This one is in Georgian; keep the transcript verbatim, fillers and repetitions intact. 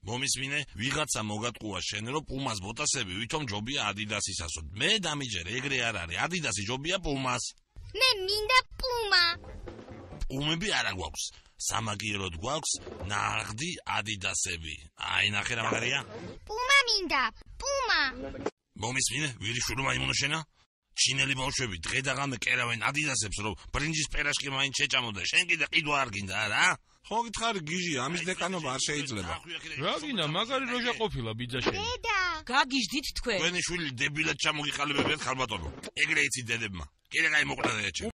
მომისმინე, ვიღაცა მოგატყუა შენ, რომ პუმას ბოტასები ვითომ ჯობია ადიდასისასო. მე დამიჯერე, ეგრე არ არის. ადიდასი ჯობია პუმას. მე მინდა პუმა. პუმები არა გვაქვს. სამაგიეროდ გვაქვს ნაღდი ადიდასები. აი, ნახე რა მაგარია. პუმა მინდა, პუმა. მომისმინე, ვირიშვილო მაიმუნო შენა? ჩინელი ბავშვები დღე და ღამე კერავენ ადიდასებს, რომ ბრინჯის პერაშკი მაინც შეჭამოდა. შენ კიდე ყიდვა არ გინდა რა? ხო გითხარი გიჟი, ამის დეკანობა არ შეიძლება. რა გინდა, მაგარი როჟა ყოფილა ბიძაშენი. დედა. გაგიჟდით თქვენ. თქვენი შვილი დებილად ჩამოგიყალიბებიათ ხალბატონო. ეგრე იცით დედებმა. კიდე გაიმოყდა და ეჩე.